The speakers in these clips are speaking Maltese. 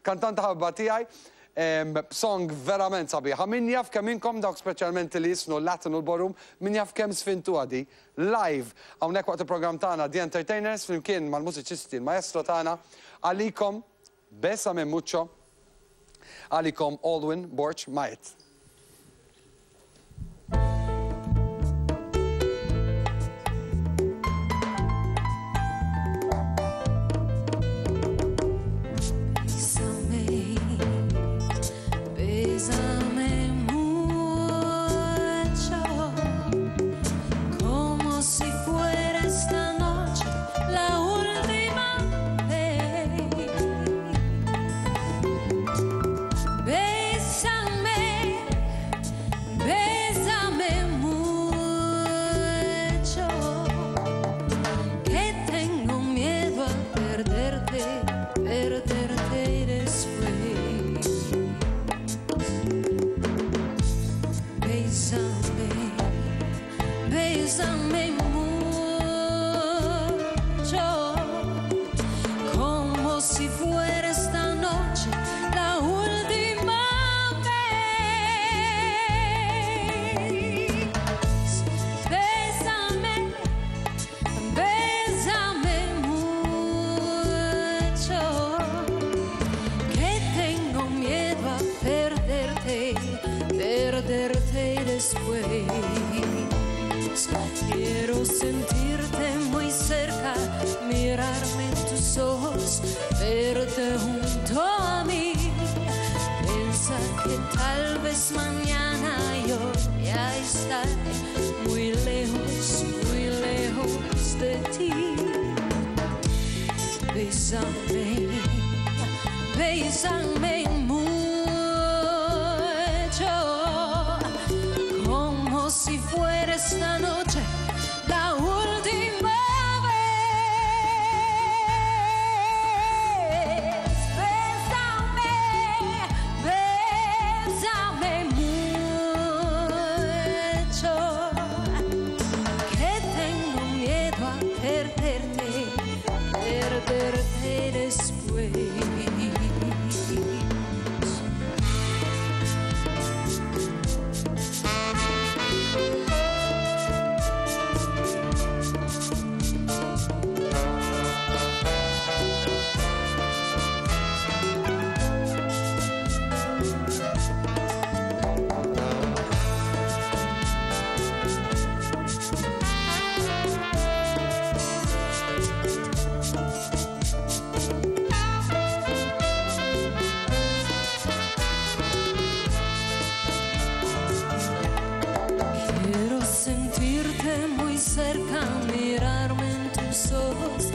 Kantanta ħabba tiegħi b'song verament sabiħa. Min jaf kemm inkom dawk speċjalment li jisnu l-Latin u l-Ballroom, min jaf kemm sfintuha di live hawnhekk waqt il-programm tagħna The Entertainers flimkien mal-mużiċisti l-maestro tagħna għalikom Bésame Mucho għalikom Alwyn Borg Maet. Bésame, bésame mucho, como si fuera esta noche la última vez. Bésame, bésame mucho, que tengo miedo a perderte, perderte después. Bésame, bésame mucho, como si fuera esta noche la última vez. Bésame, bésame mucho, que tengo miedo a perderte, perderte después. Quiero sentirte muy cerca, mirarme en tus ojos, verte junto a mí. Pensar que tal vez mañana yo ya estaré muy lejos, muy lejos de ti. Bésame, bésame mucho, como si fuera esta noche la última vez. Bésame, bésame mucho, que tengo miedo a perderte, perderte después. Quiero sentirte muy cerca, mirarme en tus ojos,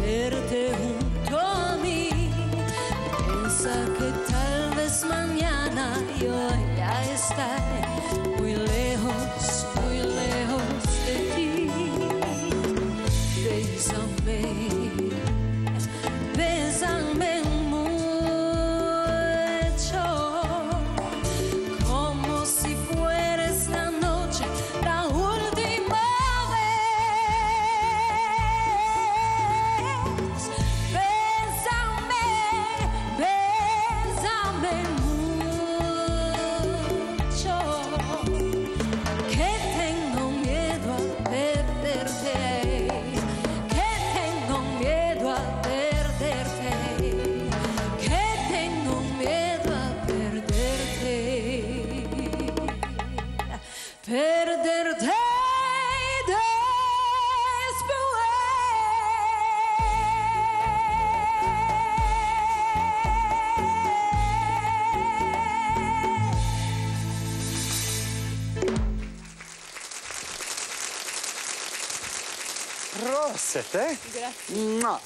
verte junto a mí. Piensa que tal vez mañana yo ya estaré muy lejos, muy lejos de ti. Bésame, bésame mucho, como si fuera esta noche la última vez. Bésame, bésame mucho, que tengo miedo a perderte, que tengo miedo a perderte, que tengo miedo a perderte, perderte después. Proset, eh? Grazzi. Mwah,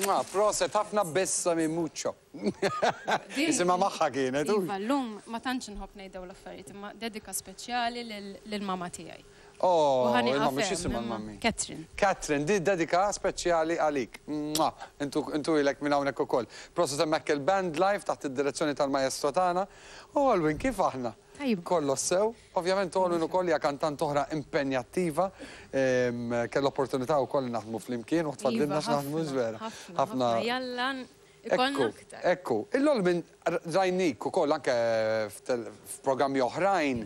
mwah, proset, ħafna bésame mucho. Isimha magħha kienet. u. Iva, llum ma tantx nħobb ngħid dawn l-affarijiet, imma dedika speċjali lil-mama tiegħi. Oh, U ħani il-mami, għafem, x'jisimha imma- l-mami? Catherine. Catherine, di dedika speċjali għalik. Mwah, Intu intu ilek minn hawnhekk ukoll. Proset hemmhekk il-band live taħt id-direzzjoni tal-maestro tagħna. U Alwyn, kif aħna? Tajba. Kollox sew. Ovvjament Alwyn ukoll hija kantant oħra impenjattiva. Kell opportunità wkoll naħdmu flimkien u tfadlilna Iva, x'naħdmu ħafna, żvera. ħafna, ħafna. Jalla Ikollna aktar. Ekku, illol minn rajnik ukoll anke f'programmi oħrajn,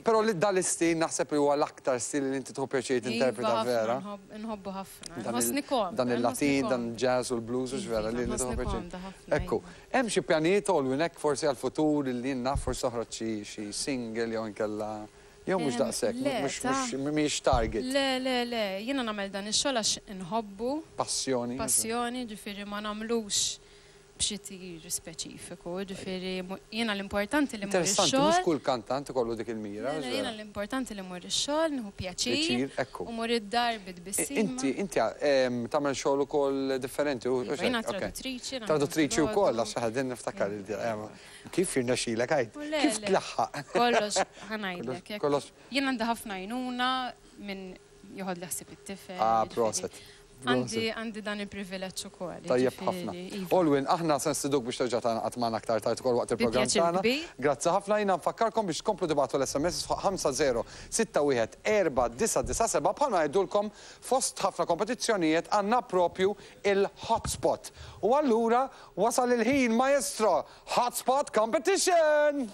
però li dal-istil naħseb li huwa l-aktar stil li inti tieħu pjaċir tinterpreta Iva, vera. ħafna, Nħobbu ħafna. Dan Nħossni komda. Dan il-Latin, nħossni dan il-jazz u l-blues u vera li Iva, li tieħu nħossni pjaċir. komda ħafna, Ekku, iva. hemm xi pjanijiet Olwyn hekk forsi għal-futur li jien naf forsi toħroġ xi single jew inkella jew mhux daqshekk, Le, mhux mhix target. Le, le, le, jiena nagħmel dan ix-xogħol għax inħobbu, Passjoni. passjoni, ġifieri ma nagħmlux b'xi tir speċifiku, ġifieri jiena l-importanti li mmur Interessanti, mhux ix-xogħol. kull kantant ikollu dik il-mira. Le, le, jiena l-importanti li mmur ix-xogħol, nieħu pjaċir Pjaċir, ekku. u mmur id-dar bitbissima. Inti tagħmel xogħol ukoll differenti u Iva, Jiena hekk, ok. traduttriċi. nagħmel Traduttriċi wkoll filgħodu. għax ħadin niftakar kif jirnexxilek għid? U le, Kif le. tlaħħaq? Kollox ħa ngħidlek. jekk- Kollox. Jien għandi ħafna għajnuna minn joħod li ħsieb it-tifel. Ah, jiġifieri. proset. Għandi dan il-privileġġ ukoll. Tajjeb ħafna. jiġifieri, iva. Olwyn, aħna se nstiduk biex terġa' tagħna magħna aktar tard ukoll waqt il-programm Bi pjaċir tagħna. kbir. Grazzi ħafna jiena nfakkarkom biex tkomplu tibagħtu l-SMS fuq 50614997 bħalma ngħidulkom fost ħafna kompetizzjonijiet għandna propju il-hotspot. U allura wasal il-ħin maestro Hotspot Competition!